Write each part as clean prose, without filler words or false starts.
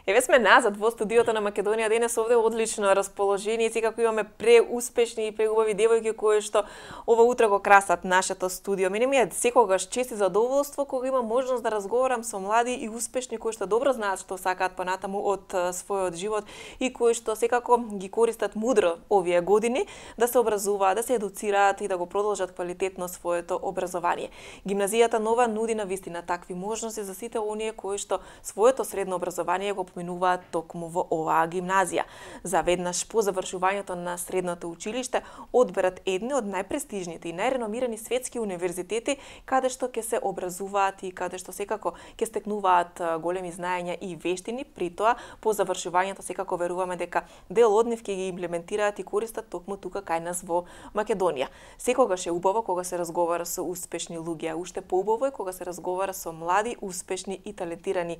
Еве сме назад во студиото на Македонија денес, овде одлично расположение, секако имаме преуспешни и преубави девојки кои што ова утро го красат нашето студио. Мене ми е секогаш чест и задоволство кога имам можност да разговарам со млади и успешни кои што добро знаат што сакаат понатаму од својот живот и кои што секако ги користат мудро овие години да се образуваат, да се едуцираат и да го продолжат квалитетно своето образование. Гимназијата Нова нуди навистина такви можности за сите оние кои што своето средно образование го поминуваат токму во оваа гимназија. За веднаш по завршувањето на средното училиште одберат едни од најпрестижните и најреномирани светски универзитети каде што ќе се образуваат и каде што секако ќе стекнуваат големи знаења и вештини, при тоа по завршувањето секако веруваме дека дел од нив ќе ги имплементираат и користат токму тука кај нас во Македонија. Секогаш е убаво кога се разговара со успешни луѓе, а уште поубаво е кога се разговара со млади, успешни и талентирани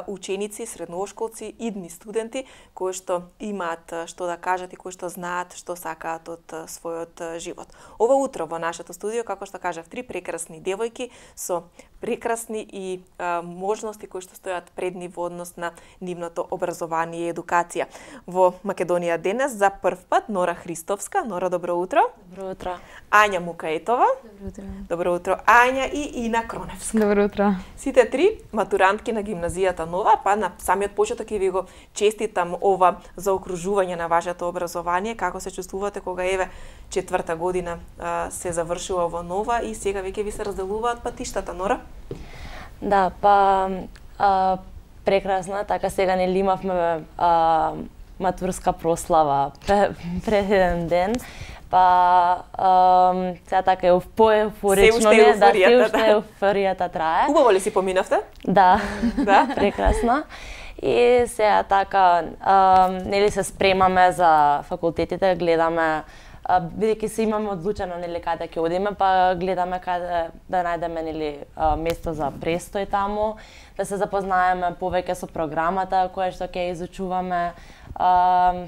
ученици, средношколци, идни студенти кои што имаат што да кажат и кои што знаат што сакаат од својот живот. Ова утро во нашето студио, како што кажав, три прекрасни девојки со прекрасни и можности кои што стојат пред нив во однос на нивното образование и едукација. Во Македонија денес за прв пат Нора Христовска. Нора, добро утро. Добро утро. Ања Мукаетова. Добро утро. Добро утро. Ања и Ина Кроневска. Добро утро. Сите три матурантки на гимназијата Нова, па на самиот почеток ќе ви го честитам ова заокружување на вашето образование. Како се чувствувате кога еве четврта година се завршува во Нова и сега веќе ви се разделуваат патиштата, Нора? Да, прекрасно, така сега нели имавме матурска прослава пред еден ден. Сега така е поеуфорично, да, се уште еуфоријата трае. Убаво ли си поминавте? Да, да, прекрасно. И сега така, нели се спремаме за факултетите, гледаме бидејќи се имаме одлучено нели каде ќе одиме, па гледаме каде да најдеме нели место за престој таму, да се запознаеме повеќе со програмата која што ќе изучуваме,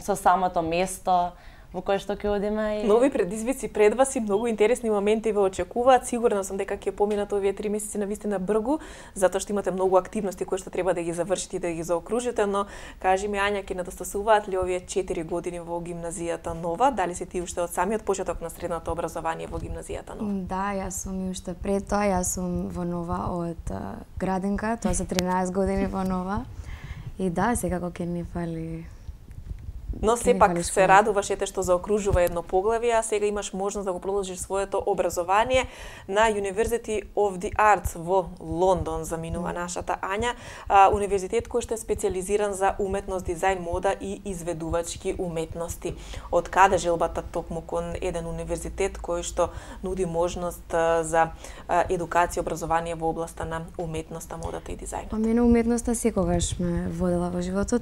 со самото место во кое што ќе одиме. Нови предизвици пред вас и многу интересни моменти ве очекуваат. Сигурна сум дека ќе поминат овие 3 месеци навистина бргу, затоа што имате многу активности кои што треба да ги завршите и да ги заокружите, но кажи ми, Ања, ќе недостасуваат ли овие 4 години во гимназијата Нова? Дали си ти уште од самиот почеток на средното образование во гимназијата Нова? Да, јас сум и уште пред тоа, јас сум во Нова од градинка, тоа за 13 години во Нова. И да, секако ќе ни фали. Но сепак се радуваш ете што заокружува едно поглавје, а сега имаш можност да го продолжиш своето образование на University of the Arts во Лондон, заминува нашата Ања, универзитет кој што е специализиран за уметност, дизајн, мода и изведувачки уметности. Од каде желбата токму кон еден универзитет кој што нуди можност за едукација и образование во областа на уметноста, модата и дизајнот? Мене уметноста секогаш ме водела во животот.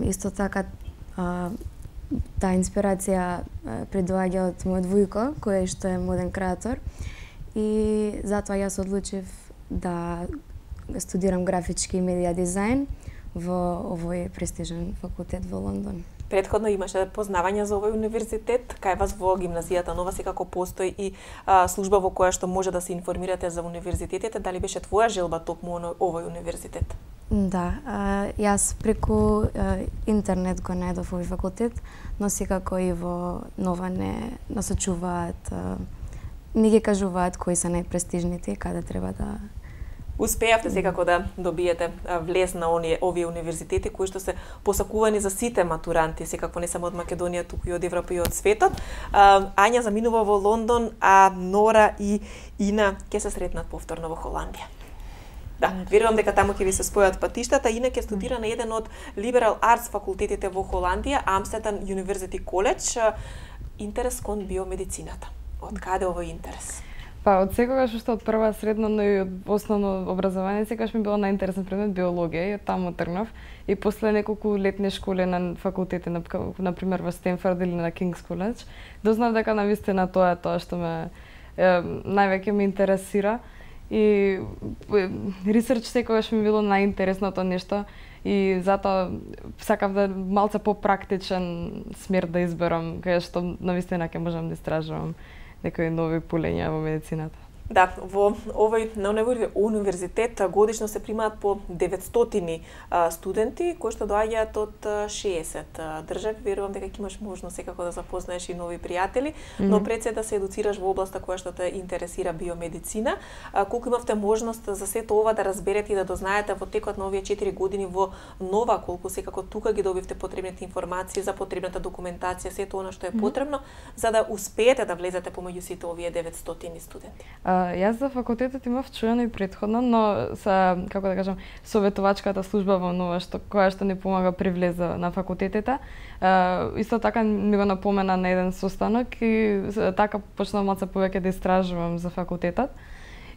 Исто така таа инспирација предоаѓа од мојот вујко, кој што е моден креатор, и затоа јас одлучив да студирам графички и медија дизајн во овој престижен факултет во Лондон. Претходно имаше познавање за овој универзитет, кај вас во гимназијата Нова секако постои и служба во која што може да се информирате за универзитетите. Дали беше твоја желба токму овој универзитет? Да, јас преку интернет го најдов овој факултет, но секако и во Нова не насочуваат, не ги кажуваат кои се најпрестижните, каде треба да... Успеавте секако да добиете влез на овие универзитети кои што се посакувани за сите матуранти, секако не само од Македонија, туку и од Европа и од светот. Ања заминува во Лондон, а Нора и Ина ќе се сретнат повторно во Холандија. Да, верувам дека таму ќе ви се спојат патиштата. Ина ќе студира на еден од Liberal Arts факултетите во Холандија, Amsterdam University College, интерес кон биомедицината. Од каде овој интерес? Па од секогаш уште од прва средно, но и од основно образование, секогаш ми било најинтересен предмет биологија и од таму тргнав. И после неколку летни школи на факултети, например во Стенфорд или на Кингс Коледж, дознав дека навистина тоа е тоа што ме највеќе ме интересира. И ресерч секогаш ми било најинтересното нешто и затоа сакав да малце попрактичен смер да изберам, кај што навистина ќе можам да истражувам некои нови полења во медицината. Да, во овој на универзитет годишно се примаат по 900 студенти кои што доаѓаат од 60 држави. Верувам дека ќе имаш можност секако да запознаеш и нови пријатели, но пред се да се едуцираш во областа која што те интересира биомедицина. Колку имавте можност за сето ова да разберете и да дознаете во текот на овие 4 години во Нова, колку секако тука ги добивте потребните информации за потребната документација, сето она што е потребно за да успеете да влезете помеѓу сите овие 900 студенти? Јас за факултетот имав чуено и претходно, но са, како да кажам, советувачката служба во Нова која што ни помага при влез на факултетите, исто така ми го напомена на еден состанок и така почнав малце повеќе да истражувам за факултетот.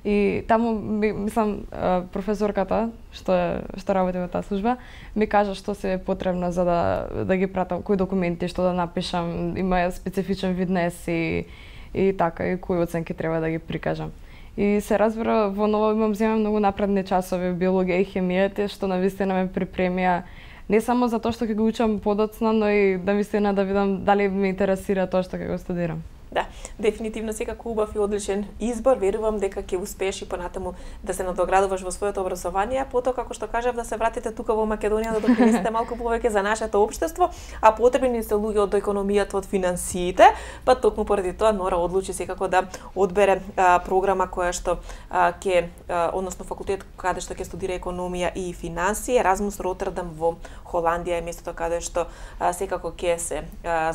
И таму мислам професорката што работи во таа служба ми кажа што се е потребно за да ги пратам, кои документи што да напишам, има специфичен вид на еси и така и кои оценки треба да ги прикажам. И се разбира, во Нова земам многу напредни часови биологија и хемија, што навистина ме припремија не само за тоа што ќе го учам подоцна, но и навистина да видам дали ме интересира тоа што ќе го студирам. Да, дефинитивно секако убав и одличен избор. Верувам дека ќе успееш и понатаму да се надоградуваш во своето образование, а потоа како што кажав да се вратите тука во Македонија да допринесете малку повеќе за нашето општество, а потребни се луѓе од економијата, од финансиите, па токму поради тоа Нора одлучи секако да одбере програма која што односно факултет каде што ќе студира економија и финансии, Еразмус Ротердам во Холандија е местото каде што секако ќе се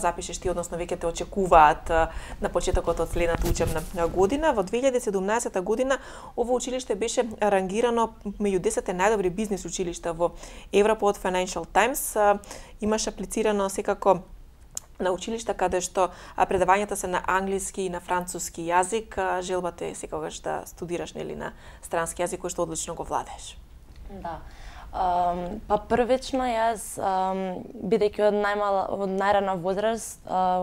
запишеш ти, односно веќе те очекуваат на почетокот од следната учебна година. Во 2017 година ово училиште беше рангирано меѓу 10 најдобри бизнис училишта во Европа од Financial Times. Имаш аплицирано секако на училишта каде што предавањата се на англиски и на француски јазик. Желбата е секогаш да студираш нели на странски јазик кој што одлично го владееш. Да. Па првично јас, бидејќи од најрана возраст,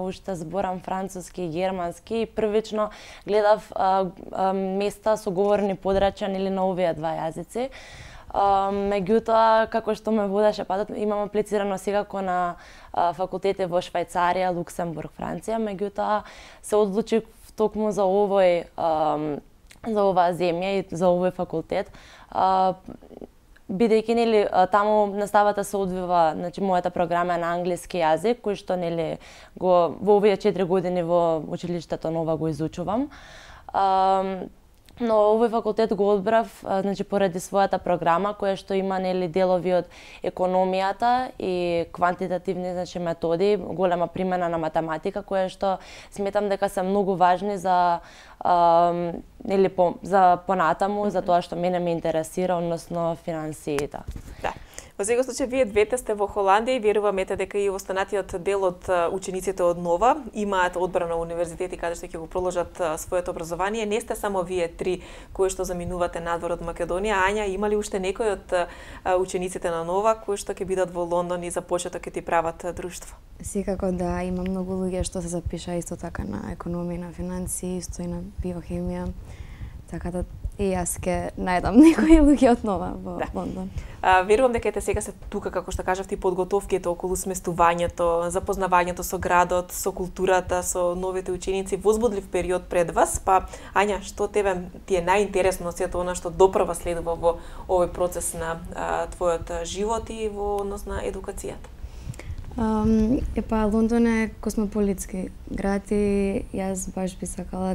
уште зборам француски и германски, првично гледав места со говорни подрачја или на овие два јазици. Меѓутоа, како што ме водеше патот, имам аплицирано секако на факултети во Швајцарија, Луксембург, Франција, меѓутоа се одлучив токму за за оваа земја и за овој факултет. Бидејќи нели таму наставата се одвива, значи мојата програма е на англиски јазик, кој што нели во овие 4 години во училиштето Нова го изучувам. Но овој факултет го одбрав, значи поради својата програма која што има нели делови од економијата и квантитативни значи методи, голема примена на математика која што сметам дека се многу важни за нели за понатаму, за тоа што мене ме интересира, односно финансиите. Да. Во секој случај, вие двете сте во Холандија и веруваме дека и останатиот дел од учениците од Нова имаат одбрана универзитети каде што ќе го продолжат своето образование. Не сте само вие три кои што заминувате надвор од Македонија. Ања, има ли уште некој од учениците на Нова кои што ќе бидат во Лондон и за почеток ќе ти прават друштво? Секако да, има многу луѓе што се запиша исто така на економија, на финансии, исто и на биохемија. Така да и јас ке најдам некои луѓе од Нова во Лондон. Верувам дека ете сега се тука, како што кажав ти, подготовките околу сместувањето, запознавањето со градот, со културата, со новите ученици, возбудлив период пред вас. Па, Ања, што тебе ти е најинтересно сето она што допрва следува во овој процес на твојот живот и во однос на едукацијата? Лондон е космополитски град и јас баш би сакала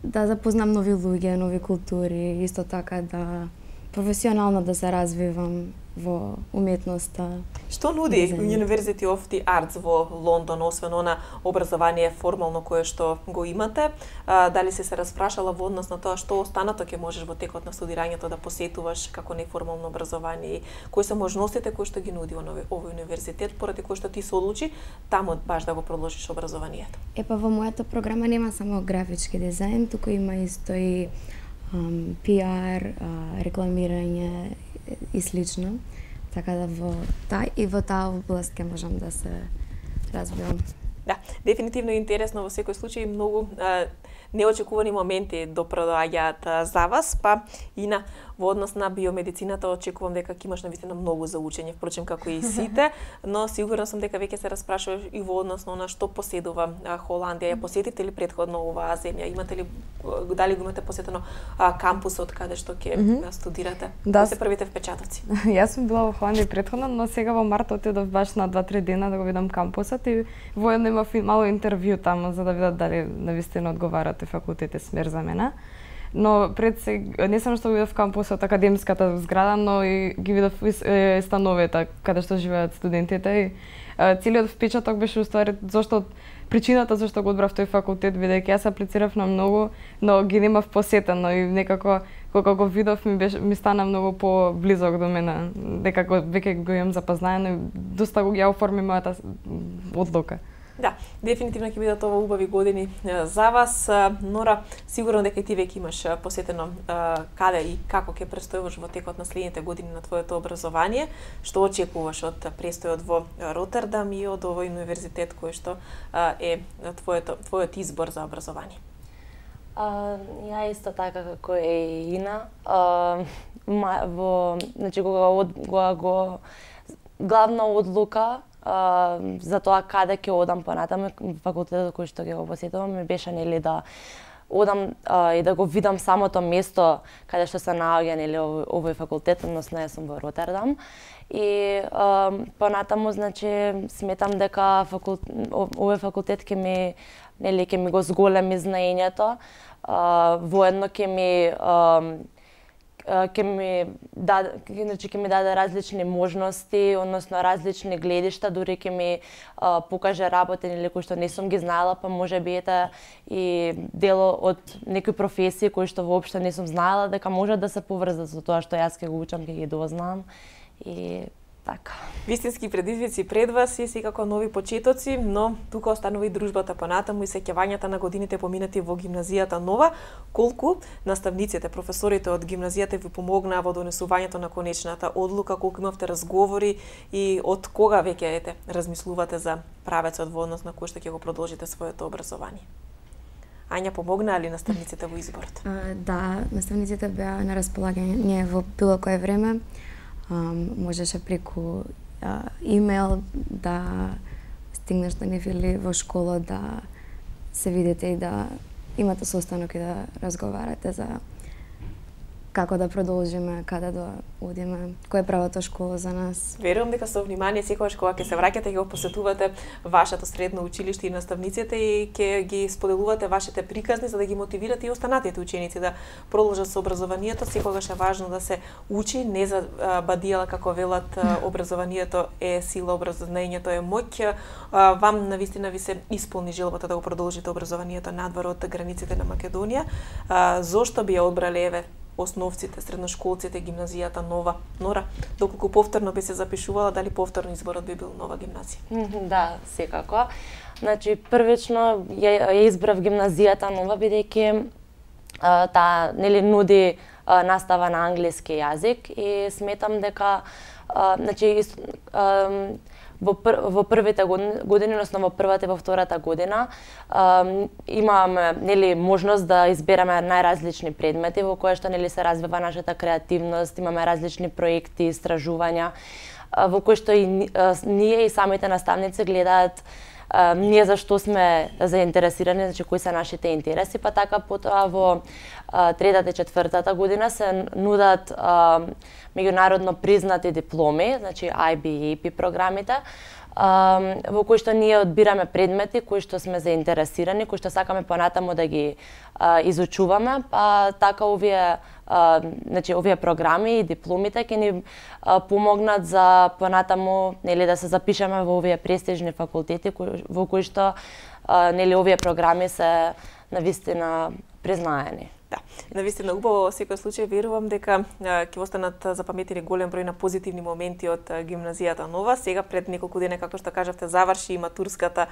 да запознам нови луѓе, нови култури, исто така да професионално да се развивам во уметноста. Што нуди University of the Arts во Лондон, освен она образование формално кое што го имате? Дали се распрашала во однос на тоа што останато ќе можеш во текот на студирањето да посетуваш како неформално образование? Кои се можностите кои што ги нуди овој универзитет, поради кој што ти се одлучи таму баш да го продолжиш образованието? Во мојата програма нема само графички дизајн, туку има исто и PR, рекламирање и слично. Така да во таа област ќе можам да се развивам. Да, дефинитивно интересно, во секој случај многу неочекувани моменти доаѓаат за вас, па и Во однос на биомедицината очекувам дека ќе имаш навистина многу за учење, впрочем како и сите, но сигурна сум дека веќе се распрашуваш и во однос на она што поседува Холандија. Ја посетите ли претходно оваа земја? Имате ли, дали го имате посетено кампусот каде што ќе студирате? Да. Кои се првите впечатоци? Јас сум била во Холандија претходно, но сега во март отидов баш на 2-3 дена да го видам кампусот и воедно имав мало интервју таму за да видат дали навистина одговара тој факултет е смер за мене. Но пред се не само што видов кампусот, академската зграда, но и ги видов становите каде што живеат студентите и целиот впечаток беше уствари зашто причината зашто го одбрав тој факултет, бидејќи јас аплицирав на многу, но ги немав посетено и некако кога го видов ми стана многу поблизок до мене, дека веќе го имам запознаено и доста го ја оформи мојата одлука. Да, дефинитивно ќе бидат ова убави години за вас. Нора, сигурно дека и ти веќе имаш посетено каде и како ќе престојуваш во текот на следните години на твоето образование. Што очекуваш од престојот во Ротердам и од овој универзитет кој што е твојот избор за образование? Ја исто така како е Ина, значи кога го главна одлука за тоа каде ќе одам понатаму, факултетот кој што ќе го посетувам ми беше нели да одам и да го видам самото место каде што се наоѓа нели овој факултет, односно јас сум во Ротердам. И понатаму значи сметам дека овој факултет ќе ми го зголеми знаењето, воедно ќе ми даде различни можности, односно различни гледишта, дури ќе ми покаже работи или кои што не сум ги знаела, па можеби ете и дел од некои професии кои што воопшто не сум знаела дека може да се поврзат со тоа што јас ќе го учам, ќе ги дознам и така. Вистински предизвици пред вас и секако нови почетоци, но тука останува и дружбата понатаму и сеќавањата на годините поминати во гимназијата Нова. Колку наставниците, професорите од гимназијата ви помогнаа во донесувањето на конечната одлука, колку имавте разговори и од кога веќе размислувате за правецот во однос на кој што ќе го продолжите своето образование? Ања, помогнаа ли наставниците во изборот? Да, наставниците беа на располагање во било кое време. Можеше преку имейл да стигнеш до нив или во школа да се видите и да имате состанок и да разговарате за како да продолжиме, каде да одиме, која е правата школа за нас. Верувам дека со внимание секогаш кога ќе се враќате ќе го посетувате вашето средно училиште и наставниците и ќе ги споделувате вашите приказни за да ги мотивирате и останатите ученици да продолжат со образованието. Секогаш е важно да се учи, не за бадијала како велат образованието е сила, образованието е моќ. Вам навистина ви се исполни желбата да го продолжите образованието надвор од границите на Македонија. Зошто би ја одбрале еве основците, средношколците, гимназијата Нова? Нора, доколку повторно би се запишувала, дали повторно изборот би бил Нова гимназија? Да, секако. Значи, првично ја избрав гимназијата Нова, бидејќи таа нели нуди настава на англиски јазик и сметам дека значи во првите години, односно во првата и во втората година, имаме нели можност да избереме најразлични предмети во кои што нели се развива нашата креативност, имаме различни проекти, истражувања во кои што и ние и самите наставници гледаат ние за што сме заинтересирани, значи кои се нашите интереси, па така потоа во третата и четвртата година се нудат меѓународно признати дипломи, значи IB и AP програмите, во кои што ние одбираме предмети кои што сме заинтересирани, кои што сакаме понатаму да ги изучуваме, па така овие програми и дипломите ќе ни помогнат за понатаму нели да се запишеме во овие престижни факултети во кои што нели овие програми се навистина признаени. Да, навистина убаво во секој случај верувам дека ќе останат запаметени голем број на позитивни моменти од гимназијата Нова. Сега пред неколку дена, како што кажавте, заврши и матурската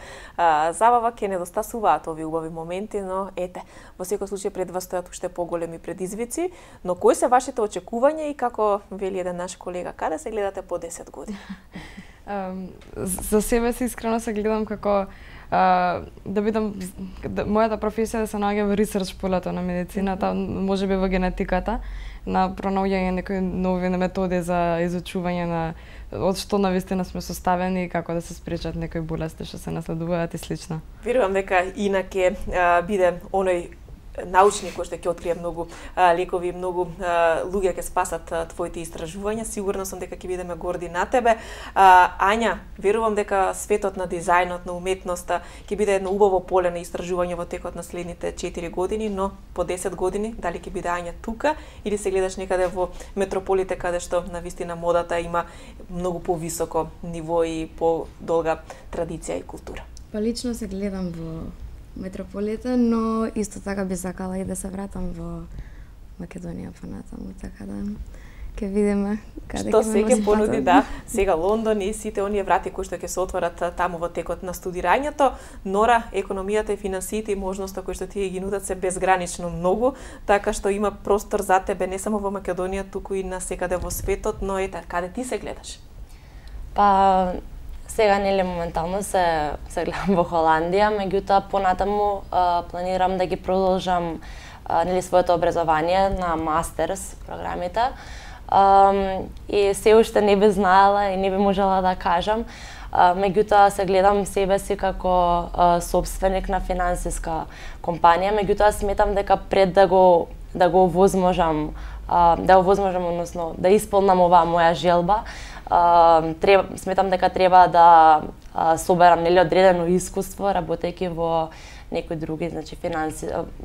забава, ќе недостасуваат овие убави моменти, но ете, во секој случај пред вас стојат уште поголеми предизвици, но кои се вашите очекувања и како вели еден наш колега, каде се гледате по 10 години? За себе се искрено се гледам како да бидам мојата професија да се наоѓа во ресерч полето на медицината, можеби во генетиката, на пронаоѓање некои нови методи за изучување на од што навистина сме составени и како да се спречат некои болести што се наследуваат и слично. Верувам дека инаке биде оној научник кој што ќе открие многу лекови, многу луѓе ќе спасат твоите истражувања. Сигурна сум дека ќе бидеме горди на тебе. Ања, верувам дека светот на дизајнот, на уметноста ќе биде едно убаво поле на истражување во текот на следните 4 години, но по 10 години дали ќе биде Ања тука или се гледаш некаде во метрополите каде што навистина модата има многу повисоко ниво и подолга традиција и култура? Па лично се гледам во метрополите, но исто така би сакала и да се вратам во Македонија понатаму, така да ќе видиме каде што се ќе понуди, да, сега Лондон и сите оние врати кои што ќе се отворат таму во текот на студирањето. Нора, економијата и финансиите и можноста кои што тие ги нудат се безгранично многу, така што има простор за тебе не само во Македонија, туку и на секаде во светот, но ете, каде ти се гледаш? Па сега нели моментално се гледам во Холандија, меѓутоа понатаму планирам да ги продолжам нели своето образование на мастерс програмите. И се уште не би знаела и не би можела да кажам, меѓутоа се гледам себе си како собственик на финансиска компанија, меѓутоа сметам дека пред да го овозможам, односно да исполнам оваа моја желба, сметам дека треба да соберам нели одредено искуство работејќи во некои други, значи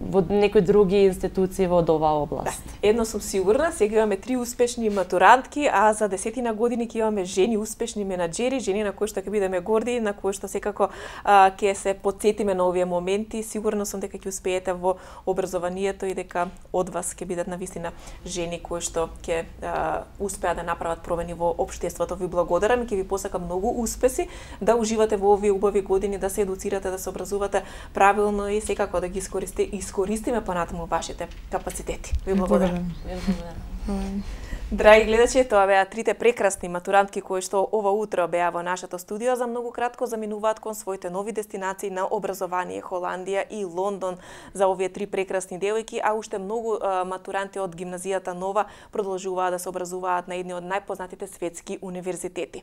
во некои други институции во оваа област. Да. Едно сум сигурна, сега имаме 3 успешни матурантки, а за 10 години ќе имаме жени успешни менаџери, жени на кои што ќе бидеме горди, на кои што секако ќе се потсетиме на овие моменти. Сигурно сум дека ќе успеете во образованието и дека од вас ќе бидат навистина жени кои што ќе успеат да направат промени во општеството. Ви благодарам и ќе ви посакам многу успеси, да уживате во овие убави години, да се едуцирате, да се образувате правилно и секако да ги искористиме понатаму вашите капацитети. Ви благодарам. Драги гледачи, тоа беа 3 прекрасни матурантки кои што ова утро беа во нашето студио. За многу кратко заминуваат кон своите нови дестинации на образование Холандија и Лондон за овие 3 прекрасни девојки, а уште многу матуранти од гимназијата Нова продолжуваат да се образуваат на едни од најпознатите светски универзитети.